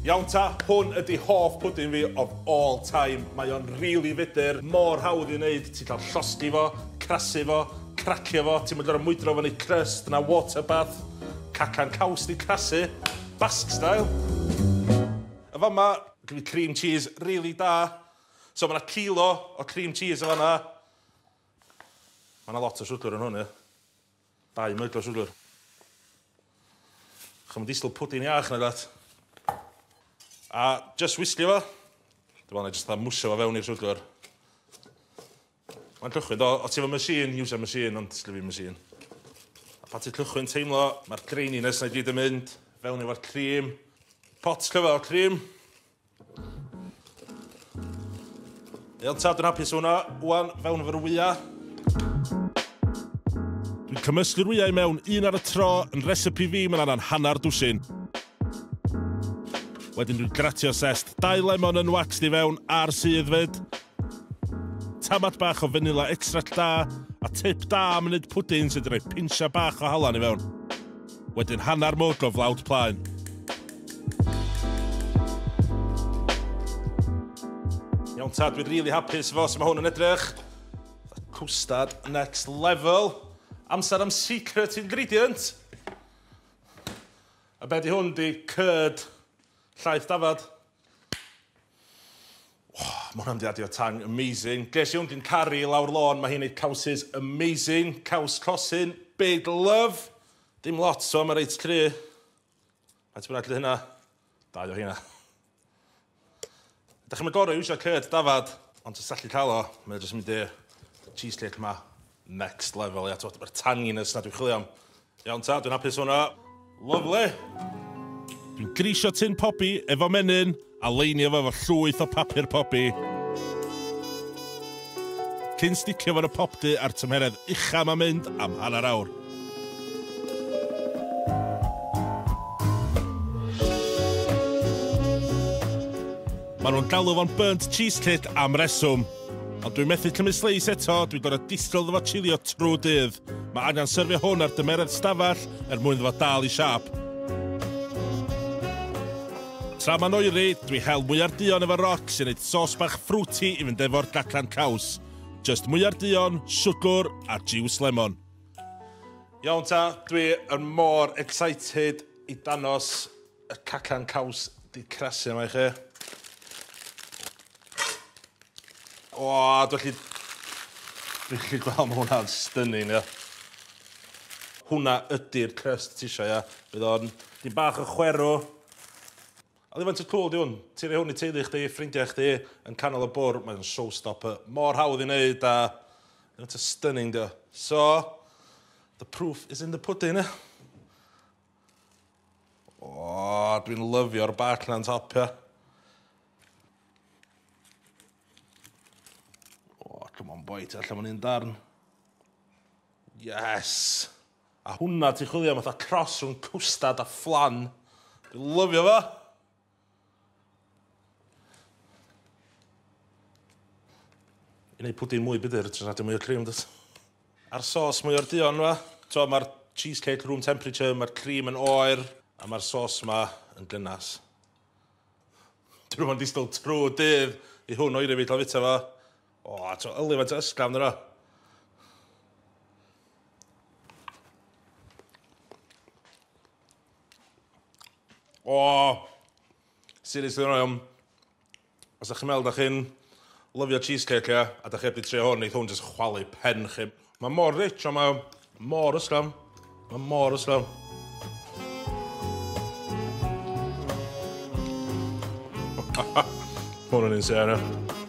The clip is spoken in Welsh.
Iawn ta, hwn ydy hoff pwdin fi of all time. Mae o'n rili fudr, mor hawdd i wneud. Ti'n cael llosgi fo, crasu fo, cracio fo, ti'n mynd o'r mwydro fo neu crust na water bath. Cacan caws di crasu, Basque style. A fama, gyda fi cream cheese really da. So mae yna kilo o cream cheese o fanna. Mae yna lot o siwgr yn hwn, ie. 2 myg o siwgr. Chym disgwyl pwdin iach na dat. A just whisky fo. Dwi'n meddwl na jyst fatha mwsio fo fewn i'r siwgr. Mae'n cychwyn, do, o ti efo machine, use a machine, ond sgynna fi machine. A pan ti'n cychwyn teimlo, mae'r graininess na i gyd yn mynd fewn efo'r cream. Pot cyfa o cream. Iawn ta, dwi'n hapus hwnna. Wan, fewn efo'r wya. Dwi'n cymysgu'r wyau i mewn un ar y tro, yn recipe fi, mae'n anna'n hanner dwsin. Wedyn dwi'n gratio sest 2 lemon yn waxed i fewn a'r sydd fyd. Tamad bach o vanilla extract da, a tip da am wneud pwdin sydd wedi rhoi pinsia bach o halan i fewn. Wedyn hanner mwg o flawd plaen. Iawn ta, dwi'n really hapus efo sut mae hwn yn edrych. Cwstard next level. Amser am secret ingredient. A be di hwn di curd llaeth dafad. Oh, mae hwnna'n di adio tang amazing. Ges i hwn gyn Cari lawr lôn, mae hi'n neud cawsys amazing. Caws cosyn, big love. Dim lot, so mae reit cry. Faint bynnag ydi hynna? 2 o hynna. Dach chi'n mynd gorau iwsio curd dafad, ond os allu cael o, mae o jyst yn mynd i'r cheesecake ma next level, ia, t'mod, mae'r tanginess na dwi'n chwilio am. Iawn ta, dwi'n hapus hwnna. Lovely. Dwi'n grisio tin pobi efo menyn a leinio fo efo llwyth o papur pobi. Cyn sticio fo yn y popty a'r tymheredd ucha ma'n mynd am hanner awr. Maen nhw'n galw fo'n burnt cheesecake am reswm. Ond dwi'n methu cymryd sleis eto, dwi'n gorfod disgwyl iddo fo chilio trwy dydd. Mae angen syrfio hwn ar dymeredd stafell er mwyn iddo fo dal i siâp. Tra mae'n oeri, dwi hel mwyar duon efo roc sy'n neud sos bach fruity i fynd efo'r gacan caws. Just mwyar duon, siwgr a juice lemon. Iawn ta, dwi yn mor excited i danos y cacan caws di crasu yma i chi. O, dwi'n gallu gweld ma' hwnna'n stunning, ia. Hwnna ydy'r crust ti isio, ia. Bydd o'n dim bach o chwerw. A ddim faint o cool di hwn. Ti'n rhoi hwn i teulu chdi, ffrindiau chdi, yn canol y bwrdd, mae'n showstopper. Mor hawdd i wneud a faint o stunning di o. So, the proof is in the pudding, ia. O, dwi'n lyfio'r bark na'n top, ia. O, come on boy, ti allan un darn. Yes! A hwnna ti'n chwilio am fatha cross rhwng cwstard a flan. Dwi'n lyfio fo! I wneud pwdin mwy budr, ti'n adio mwy o cream, dwyt? A'r sos mwy o'r duon, fa. So, mae'r cheesecake room temperature, mae'r cream yn oer, a mae'r sos ma yn gynnas. Dwi'n mynd disgwyl trwy dydd i hwn oeri fi cael fita fo. O, to, yli faint o ysgafn yna. O, seriously, iawn. Os ydych chi'n meddwl da chi'n lyfio cheesecake, ia, a da chi heb di trio hwn, neith hwn jyst chwalu pen chi. Mae mor rich, ond mae mor ysgafn. Mae mor ysgafn. Hwn yn insane, ia.